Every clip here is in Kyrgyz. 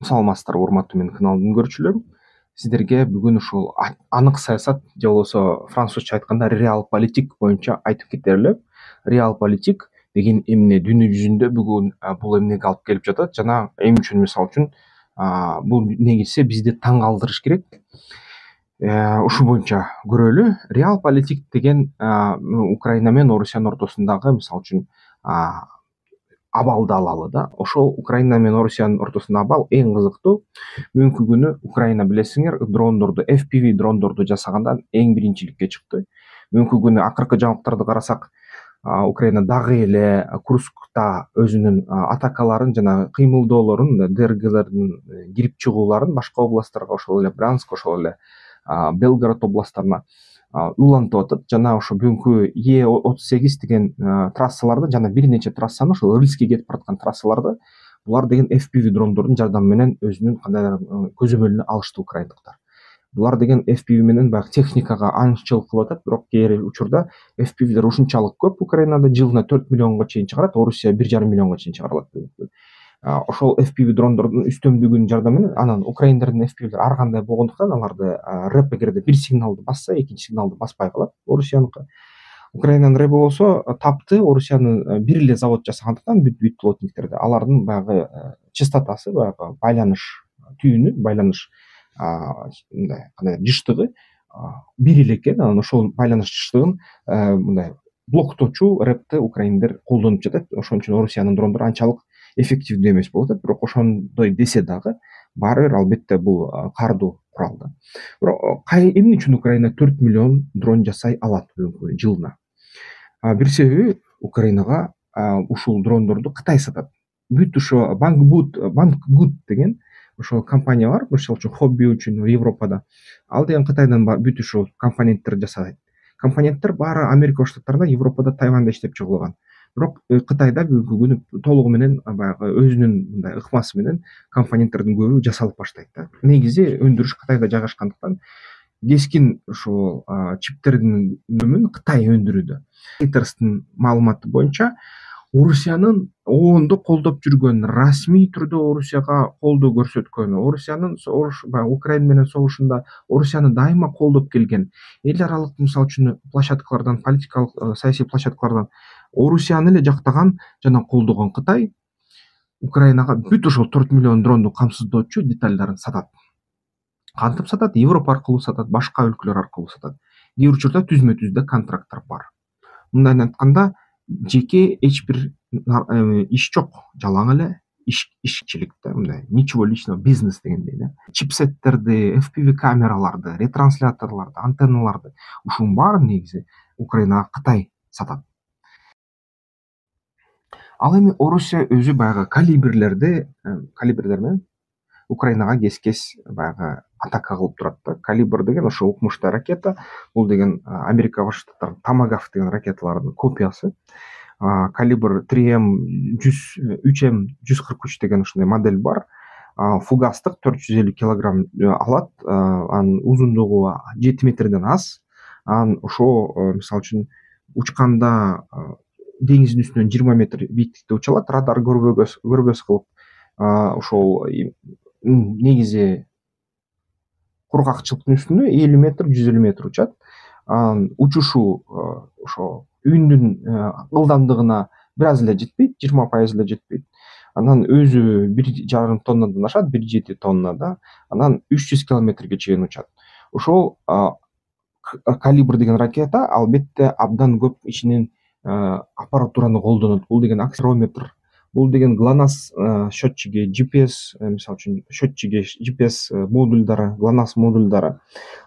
Саламатсыздарбы, урматтуу менин каналымдын көрүүчүлөрү. Сиздерге бүгүн ушул анык саясат же болбосо французча айтканда реал-политик боюнча айтып кетер элем. Реал-политик деген эмне дүйнө жүзүндө бүгүн бул эмнеге алып келип жатат жана эми үчүн мисалы үчүн бул негизи бизди таң калтырыш керек. Ушул боюнча көрөлү. Реал-политик деген Украина менен Орусиянын ортосундагы мисалы үчүн абалды алалы да. Ошол Украина менен Орусиянын ортосундагы абал эң кызыктуу. Бүгүнкү күнү Украина билесиңер дрондорду, FPV дрондорду жасаганда эң биринчиликке чыкты. Бүгүнкү күнү акыркы жаңылыктарды карасак, Украина дагы эле Курскта өзүнүн атакаларын жана кыймылдоолорун, ДРГлердин кирип чыгууларын башка областтарга, ошол эле Брянск, ошол эле Белгород областтарына улантып атат. Жана ошо бүгүнкү Е38 деген трассаларды жана бир нече трассаны, ошол Рыльскке кетип бараткан трассаларды булар деген FPV дрондордун жардамы менен өзүнүн кандайдыр көзөмөлүнө алышты украиндыктар. Булар деген FPV менен баягы техникага аңчылык кылып атат, бирок кээ учурда FPVдер ушунчалык көп Украинада жылына 4 миллионго чейин чыгарат, Орусия 1,5 миллионго чейин чыгарылат. Ошол FPV дрондордун үстөмдүгүнүн жардамы менен анан украиндердин FPVдер ар кандай болгондуктан аларды рэп эгерде бир сигналды басса, экинчи сигналды баспай калат Орусияныкы. Украинанын рэби болсо тапты, Орусиянын бир эле завод жасагандыктан бүт плотниктерде алардын баягы частотасы, баягы байланыш түйүнү, байланыш мындай кандай жыштыгы бир эле экен. Анан ошол байланыш жыштыгын мындай блоктоочу рэпти украиндер колдонуп жатат. Ошон үчүн Орусиянын дрондору анчалык эффективдүү эмес болуп атат. Бирок ошондой десе дагы баары бир албетте бул кардуу курал да. Бирок эмне үчүн Украина 4 миллион дрон жасай алат жылына? Бир себеби Украинага ушул дрондорду Кытай сатат. Бүт ошо Banggood деген ошол компания бар, мисалы үчүн хобби үчүн Европада. Ал деген Кытайдан бүт ушул компоненттер жасайт. Компоненттер баары Америка Штаттарында, Европада, Тайванда иштеп чыгылган. Бирок Кытайда бүгүнкү күнү толугу менен баягы өзүнүн мындай ыкмасы менен компоненттердин көбү жасалып баштайт да. Негизи өндүрүш Кытайда жайгашкандыктан кескин ушул чиптердин өнүмүн Кытай өндүрүүдө. Reuters маалыматы боюнча Орусиянын оондо колдоп жүргөн, расмий түрдө Орусияга колдоо көрсөткөн, Орусиянын Украина менен согушунда Орусияны дайыма колдоп келген эл аралык мисалы үчүн площадкалардан, политикалык саясий площадкалардан Орусияны эле жактаган жана колдогон Кытай Украинага бүт ошол 4 миллион дронду камсыздоочу детальдарын сатат. Кантип сатат? Европа аркылуу сатат, башка өлкөлөр аркылуу сатат. Кээ бир учурда түзмө-түздө контракттар бар. Мындайын айтканда, жеке эч бир иш жок, жалаң эле ишчиликте, мындай ничего личного, бизнес дегендей да. Чипсеттерди, FPV камераларды, ретрансляторлорду, антенналарды ушунун баарын негизи Украинага Кытай сатат. Ал эми Орусия өзү баягы калибрлер менен Украинага кес баягы атака кылып турат да. Калибр деген ошо укмуштуу ракета. Бул деген Америка Башкы Штаттарынын Томагавк деген ракеталарынын копиясы. Калибр 3M143 деген ушундай модель бар. Фугастык 450 килограмм алат. Анын узундугу 7 метрден аз. Анан ошо мисалы үчүн учканда деңиздин үстүнөн 20 метр бийиктикте уча алат, радар көрбөс кылып. Ошол негизи кургакчылыктын үстүндө 50 метр, 150 метр учат. Анан учушу ошо үндүн ылдамдыгына бир аз эле жетпейт, 20% эле жетпейт. Анан өзү 1,5 тоннадан ашат, 1,7 тонна да. Анан 300 километрге чейин учат. Ошол калибр деген ракета албетте абдан көп ичинен аппаратураны колдонот. Бул деген акселерометр, бул деген ГЛОНАСС счетчиги, GPS, мисалы үчүн счетчиги, GPS модулдары, ГЛОНАСС модулдары.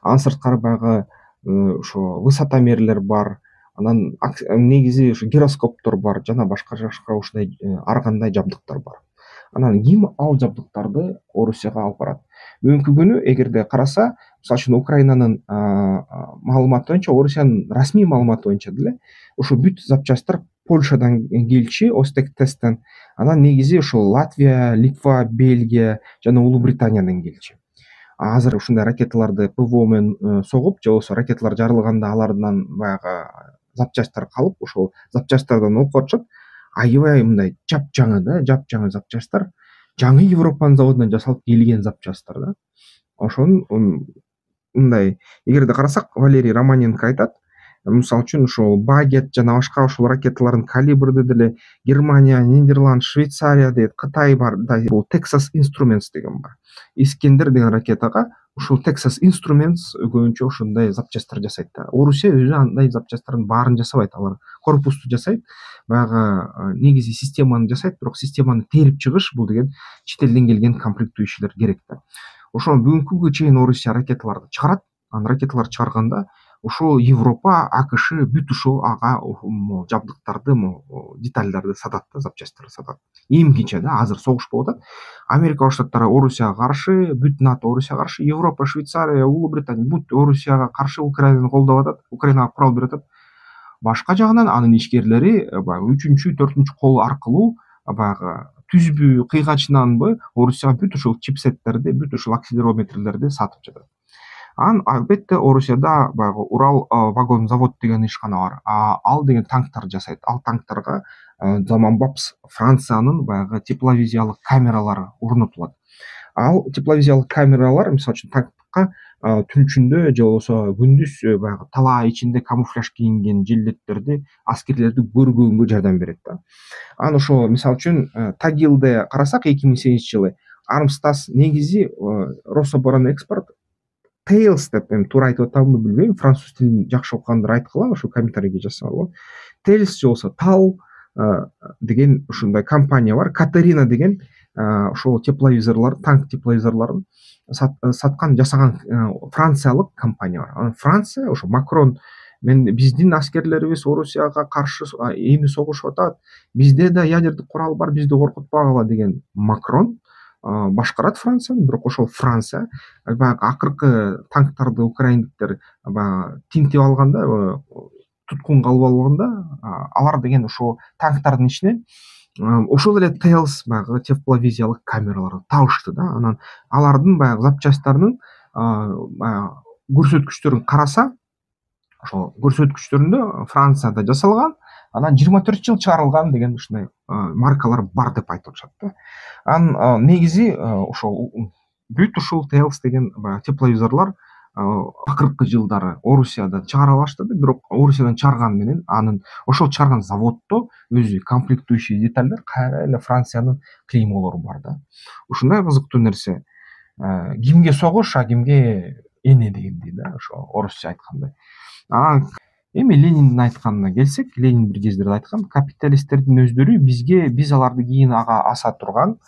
Анын сырткары баягы ошо высотомерлер бар. Анан негизи ошо гироскоптор бар жана башка ушундай ар кандай жабдыктар бар. Анан ким ал жабдыктарды Орусияга алып барат? Бүгүнкү күнү эгерде караса, мисалы үчүн Украинанын маалыматы боюнча, Орусиянын расмий маалыматы боюнча деле ошо бүт запчасттар Польшадан келчү, Остектесттен. Анан негизи ошол Латвия, Литва, Бельгия жана Улуу Британиядан келчү. Азыр ушундай ракеталарды ПВО менен согуп, же болбосо ракеталар жарылганда алардан баягы запчасттар калып, ошол запчасттардан окуп атышат. Аябай мындай жапжаңы да, жапжаңы запчасттар. жаңы Европанын заводунан жасалып келген запчасттар да. Ошонун мындай эгерде карасак, Валерий Романенко айтат, мисалы үчүн ушул Багет жана башка ушул ракеталардын калибрде деле Германия, Нидерланд, Швейцария дейт, Кытай бар да. Бул Texas Instruments деген бар. Искендер деген ракетага ушул Texas Instruments көбүнчө ушундай запчасттар жасайт да. Орусия өзү андай запчасттардын баарын жасабайт. Алар корпусту жасайт, баягы негизи системаны жасайт, бирок системаны терип чыгыш бул деген чет элден келген комплектующийлер керек да. Ошол бүгүнкү күнгө чейин Орусия ракеталарды чыгарат. Анан ракеталарды чыгарганда ушул Европа, АКШ бүт ушул ага жабдыктарды, детальдарды сатат да, запчасттарды сатат. Эмкиче да, азыр согуш болуп атат. Америка Коңшу Орусияга каршы, бүт НАТО Орусияга каршы, Европа, Швейцария, Улуу Британия бүт Орусияга каршы Украинаны колдоп атат, Украинага курал берип атат. Башка жагынан анын ишкерлери баягы 3-4 кол аркылуу баягы түзбү, кыйгачынанбы Орусияга бүт ушул чипсеттерди, бүт ушул акселерометрлерди сатып жатат. Анан албетте Орусияда баягы Урал вагон завод деген ишкана бар. Ал деген танктар жасайт. Ал танктарга заманбап Франциянын баягы тепловизиялык камералары орнотулат. Ал тепловизиялык камералар мисалы үчүн танкка түн ичинде же болбосо күндүз баягы талаа ичинде камуфляж кийинген жилеттерди, аскерлерди көргөнгө жардам берет да. Анан ошо мисалы үчүн Тагилде карасак 2008-жылы Армстас негизи Рособоронэкспорт Tails деп, эми туура айтып атамынбы билбейм, француз тилин жакшы окугандар айткыла, ошо комментарийге жазсаңар. Tails же болсо Tal деген ушундай компания бар. Катерина деген ошол тепловизорлор, танк тепловизорлорун саткан, жасаган франциялык компания бар. Анан Франция ошо Макрон биздин аскерлерибиз Орусияга каршы эми согушуп атат, бизде да ядердик курал бар, бизди коркутпагыла деген Макрон башкарат Францияны. Бирок ошол Франция баягы акыркы танктарды украиндиктер баягы тинтип алганда, туткунга алып алганда, алар деген ошол танктардын ичинен ошол эле Tails баягы тепловизиялык камераларды табышты да. Анан алардын баягы запчасттарынын көрсөткүчтөрүн караса, ошол көрсөткүчтөрүндө Францияда жасалган, анан 24 жыл чыгарылган деген ушундай маркалар бар деп айтып атышат да. Анан негизи ошол бүт ушул Tails деген баягы тепловизорлор акыркы жылдары Орусияда чыгара баштады. Бирок Орусиядан чыгарган менен анын ошол чыгарган заводдо өзү комплектующий детальдер кайра эле Франциянын клеймолору бар да. Ушундай кызыктуу нерсе. Кимге согуш, кимге эне дегендей да, ошо орусча айткандай. Анан эми Лениндин айтканына келсек, Ленин бир кездерде айткан, капиталисттердин өздөрү биз аларды кийин ага аса турган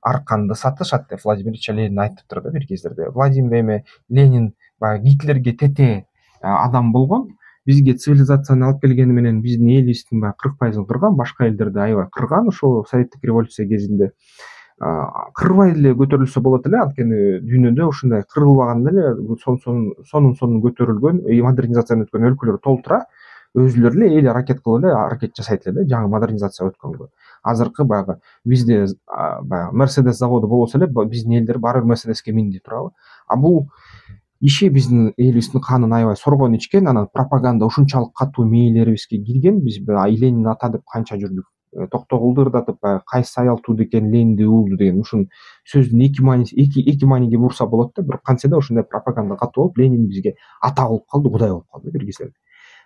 арканды сатышат деп Владимир Ильич Ленин айтыптыр да бир кездерде. Владимир Ленин баягы Гитлерге тете адам болгон, бизге цивилизацияны алып келгени менен биздин элибиздин баягы 40% кырган, башка элдерди аябай кырган ошол советтик революция кезинде. Кырбай эле көтөрүлсө болот эле, анткени дүйнөдө ушундай кырылбаган эле сонун көтөрүлгөн, модернизациядан өткөн өлкөлөр толтура, өзүлөрү эле эл аракет кылып эле аракет жасайт эле жаңы модернизация өткөнгө. Азыркы баягы бизде баягы Mercedes заводу болбосо эле, биздин элдер баары бир Mercedesке минди турабы. Бул иши биздин элибиздин канын аябай соргон ичкен, анан пропаганда ушунчалык катуу мээлерибизге кирген. Биз Ленин ата деп канча жүрдүк, токтогулду ырдатып, кайсы аял тууду экен, Ленинди уулду деген ушун сөздүн эки мааниге бурса болот да. Бирок кантсе да ушундай пропаганда катуу болуп, Ленин бизге ата болуп калды, Кудай болуп калды бир кездерде.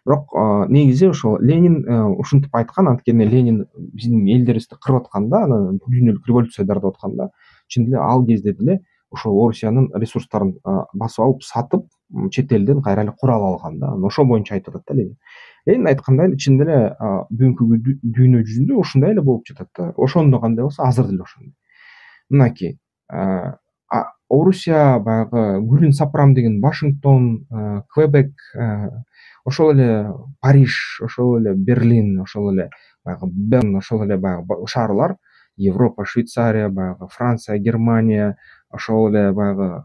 Бирок негизи ошо Ленин ушинтип айткан, анткени Ленин биздин элдерибизди кырып атканда, анан дүйнөлүк революция дартып атканда, чын эле ал кезде деле ошол Орусиянын ресурстарын басып алып, сатып, чет элден кайра эле курал алган да. Ошол боюнча айтып атат да Ленин. Ленин айткандай эле чын эле бүгүнкү дүйнө жүзүндө ушундай эле болуп жатат да. Ошондо кандай болсо, азыр деле ошондой. Мынакей Орусия баягы гүлүн сапырам деген Вашингтон, Квебек, ошол эле Париж, ошол эле Берлин, ошол эле баягы Берн, ошол эле баягы шаарлар, Европа, Швейцария, баягы Франция, Германия, ошол эле баягы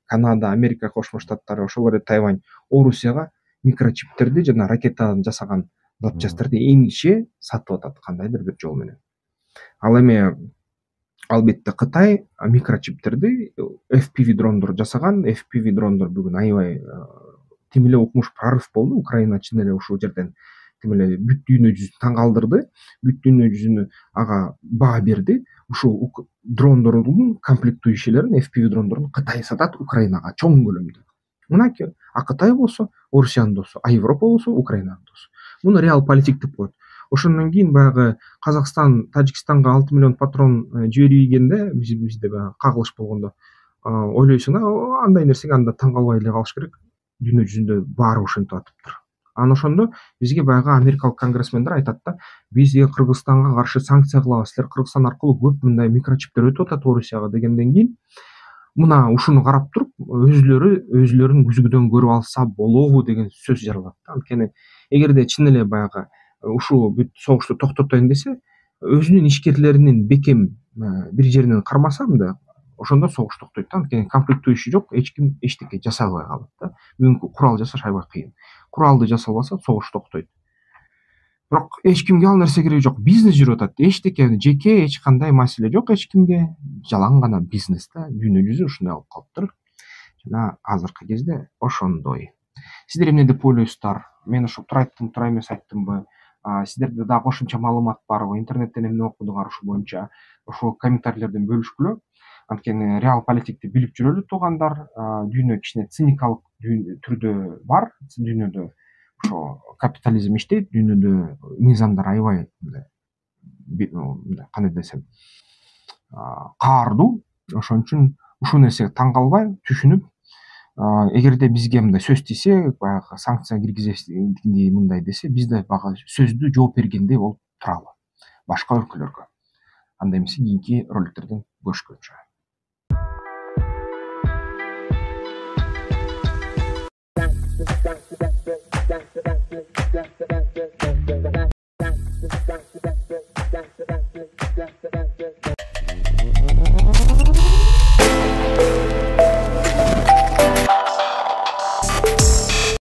Канада, Америка Кошмо Штаттары, ошол эле Тайвань Орусияга микрочиптерди жана ракетадан жасаган запчасттарды эмгиче сатып атат кандайдыр бир жол менен. Ал эми албетте Кытай микрочиптерди FPV дрондор жасаган. FPV дрондор бүгүн аябай тим эле укмуш прорыв болду. Украина чын эле ушул жерден тим эле бүт дүйнө жүзүн таң калтырды, бүт дүйнө жүзүнө ага баа берди. Ушул дрондордун комплектующийлерин, FPV дрондорун Кытай сатат Украинага чоң көлөмдө. Мынакей, а Кытай болсо Орусиянын досу, а Европа болсо Украинанын досу. Муну реал политик деп коет. Ошондон кийин баягы Казакстан Тажикстанга 6 миллион патрон жибергенде, бизде баягы кагылыш болгондо ойлойсуң, андай нерсеге анда таң калбай эле калыш керек. Дүйнө жүзүндө баары ошентип атыптыр. Анан ошондо бизге баягы америкалык конгрессмендер айтат да, бизге Кыргызстанга каршы санкция кылабыз, силер Кыргызстан аркылуу көп мындай микрочиптер өтүп атат Орусияга дегенден кийин, мына ушуну карап туруп өзүлөрүн күзгүдөн көрүп алса болобу деген сөз жаралат да. Анткени эгерде чын эле баягы ушул бүт согушту токтотоюн десе, өзүнүн ишкерлеринин бекем бир жеринен кармаса мындай, ошондо согуш токтойт да. Анткени комплектующий жок, эч ким эчтеке жасабай калат да. Бүгүнкү курал жасаш аябай кыйын. Куралды жасалбаса согуш токтойт. Бирок эч кимге ал нерсе кереги жок. Бизнес жүрүп атат. Эчтеке жеке эч кандай маселе жок эч кимге. Жалаң гана бизнес да. Дүйнө жүзү ушундай болуп калыптыр. Жана азыркы кезде ошондой. Сиздер эмне деп ойлойсуздар? Мен ошо туура айттым, туура эмес айттымбы? Сиздерде дагы кошумча маалымат барбы? Интернеттен эмне окудуңар ушул боюнча? Ошол комментарийлерден бөлүшкүлө. Анткени реал политикти билип жүрөлү туугандар. Дүйнө кичине циникалык түрдө бар. Дүйнөдө ошо капитализм иштейт, дүйнөдө мыйзамдар аябай кандай десем каардуу. Ошон үчүн ушул нерсеге таң калбай түшүнүп, эгерде бизге мындай сөз тийсе, баягы санкция киргизесиң мындай десе, биз да баягы сөздү жооп бергендей болуп туралы башка өлкөлөргө. Анда эмесе кийинки роликтерден көрүшкөнчө.